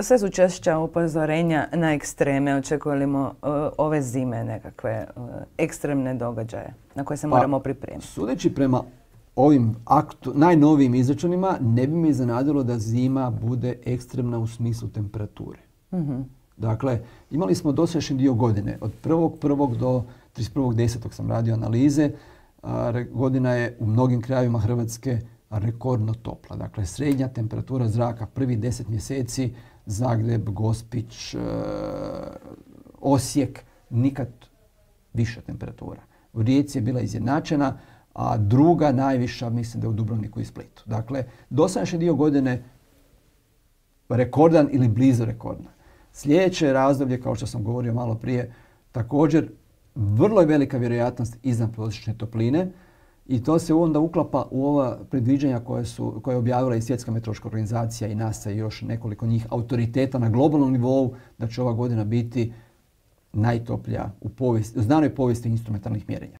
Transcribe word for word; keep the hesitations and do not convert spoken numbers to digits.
Sve su češća upozorenja na ekstreme. Očekujemo uh, ove zime nekakve uh, ekstremne događaje na koje se Pa, moramo pripremiti? Sudeći prema ovim aktu, najnovijim izračunima, ne bi me iznenadilo da zima bude ekstremna u smislu temperature. Mm-hmm. Dakle, imali smo dosadašnji dio godine. Od prvog prvog do trideset prvog desetog sam radio analize. A, re, godina je u mnogim krajevima Hrvatske rekordno topla. Dakle, srednja temperatura zraka prvih deset mjeseci, Zagreb, Gospić, e, Osijek, nikad viša temperatura. U Rijeci je bila izjednačena, a druga najviša mislim da je u Dubrovniku i Splitu. Dakle, dosadašnji dio godine rekordan ili blizu rekordan. Sljedeće razdoblje, kao što sam govorio malo prije, također vrlo je velika vjerojatnost iznadprosječne topline i to se onda uklapa u ova predviđanja koje, su, koje je objavila i Svjetska meteorološka organizacija i NASA i još nekoliko njih autoriteta na globalnom nivou, da će ova godina biti najtoplija u, povijesti, u znanoj povijesti instrumentalnih mjerenja.